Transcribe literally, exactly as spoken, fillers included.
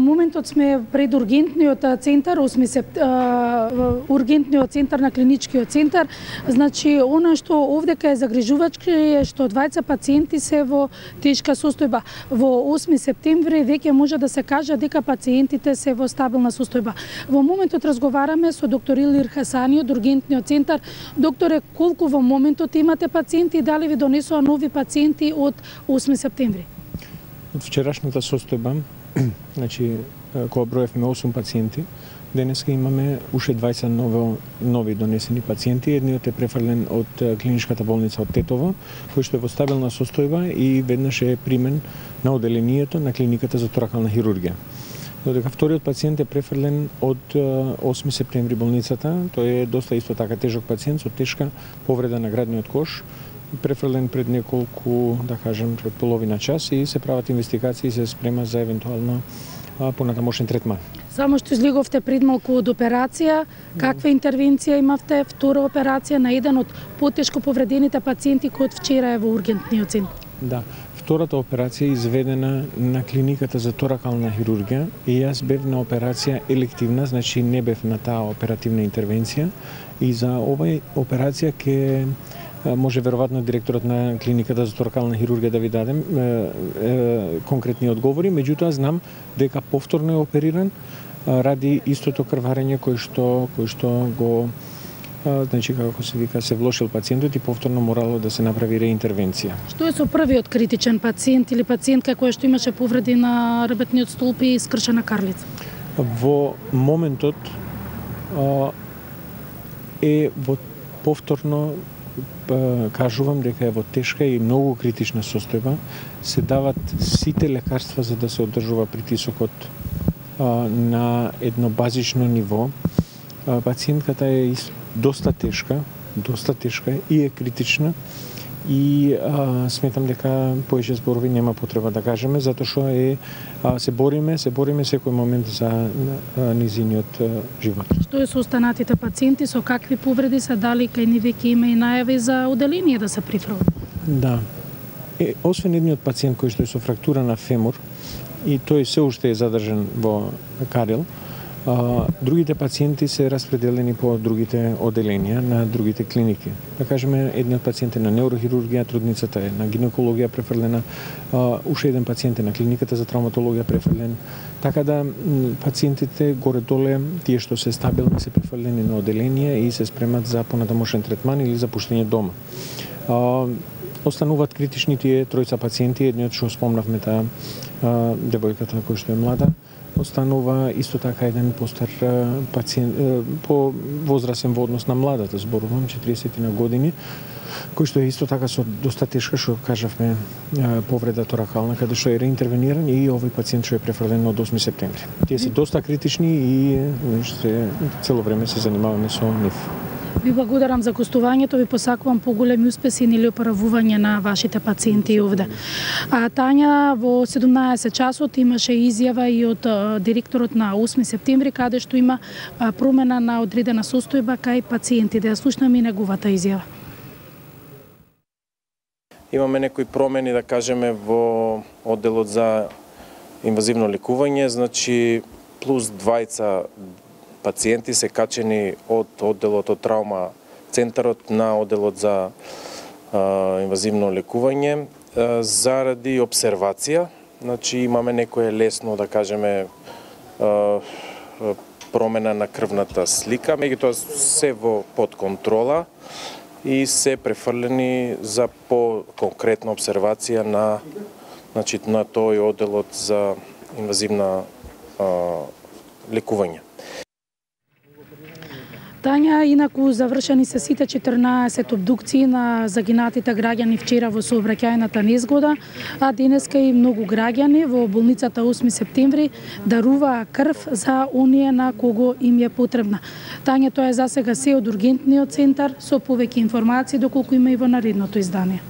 Во моментот сме пред ургентниот центар, осми септември, ургентниот центар на клиничкиот центар. Значи, она што овдека е загрижувачки е што двајца пациенти се во тешка состојба. Во осми септември веќе може да се каже дека пациентите се во стабилна состојба. Во моментот разговараме со доктор Илир Хасани од ургентниот центар. Докторе, колку во моментот имате пациенти и дали ви донесоа нови пациенти од осми септември? Од вчерашната состојба, значи, кога броевме осум пациенти, денеска имаме уште двајца нови, нови донесени пациенти. Едниот е префрлен од клиничката болница од Тетово, кој што е во стабилна состојба и веднаш е примен на оделението на клиниката за торакална хирургија. Додека вториот пациент е префрлен од осми септември болницата, тој е доста исто така тежок пациент со тешка повреда на градниот кош, префрлен пред неколку, да кажем, пред половина час и се прават инвестигации и се спрема за евентуално понатамошен третман. Само што излеговте пред малку од операција, каква интервенција имавте, втора операција на еден од потешко повредените пациенти кој од вчера е во ургентниот центар? Да, втората операција е изведена на клиниката за торакална хирургија и јас бев на операција елективна, значи не бев на таа оперативна интервенција и за овај операција ке може веројатно директорот на клиниката за торакална хирургија да ви дадем е, е, конкретни одговори, меѓутоа знам дека повторно е опериран ради истото крварење кој што кој што го а, значи како се вика се влошил пациентот и повторно морало да се направи реинтервенција. Што е со првиот критичен пациент или пациентка која што имаше повреди на ребетниот столб и скршена карлица? Во моментот а, е во повторно кажувам дека е во тешка и многу критична состојба, се дават сите лекарства за да се одржува притисокот а, на едно базично ниво. А, пациентката е доста тешка, доста тешка и е критична и а, сметам дека поише зборови нема потреба да кажеме, затоа што е а, се бориме, се бориме секој момент за а, низиниот а, живот. Што е со останатите пациенти, со какви повреди се, дали кај ни веќе има и најави за оделение да се прифрлат? Да. Е, освен едниот пациент кој што е со фрактура на фемур и тој се уште е задржан во Карел, А, другите пациенти се распределени по другите оделенија на другите клиники. Да кажеме, едниот пациент е на неурохирургија, трудницата е на гинекологија префрлена, а, уште еден пациент е на клиниката за травматологија префрлен. Така да пациентите горе-доле, тие што се стабилни, се префрлени на оделенија и се спремат за понатамошен третман или за пуштење дома. А, остануваат критични тие тројца пациенти, едниот што спомнавме таа девојката која што е млада, останува исто така еден постар пациент, по возрасен во однос на младата, зборувам, четиресет на години, кој што е исто така со доста тешка, што кажавме, повреда торакална, каде што е реинтервениран и овој пациент што е префрлен од осми септември. Тие се доста критични и се, цело време се занимаваме со нив. Ви благодарам за гостувањето, ви посакувам поголеми успеси или оправување на вашите пациенти овде. А Тања, во седумнаесет часот имаше изјава и од директорот на осми септември, каде што има промена на одредена состојба кај пациенти. Да ја слушнеме и неговата изјава. Имаме некои промени, да кажеме, во одделот за инвазивно лекување, значи плюс двајца пациенти се качени од одделот од травма центарот на одделот за а, инвазивно лекување а, заради обсервација. Значи имаме некое лесно, да кажеме, а, промена на крвната слика, меѓутоа се во под контрола и се префрлени за по-конкретна обсервација на, значи, на тој одделот за инвазивна а, лекување. Тања, инаку завршени се сите четрнаесет обдукции на загинатите граѓани вчера во сообраќајната незгода, а денеска и многу граѓани во болницата осми септември даруваа крв за оние на кого им е потребна. Тања, тоа е засега се од ургентниот центар, со повеќе информации доколку има и во наредното издание.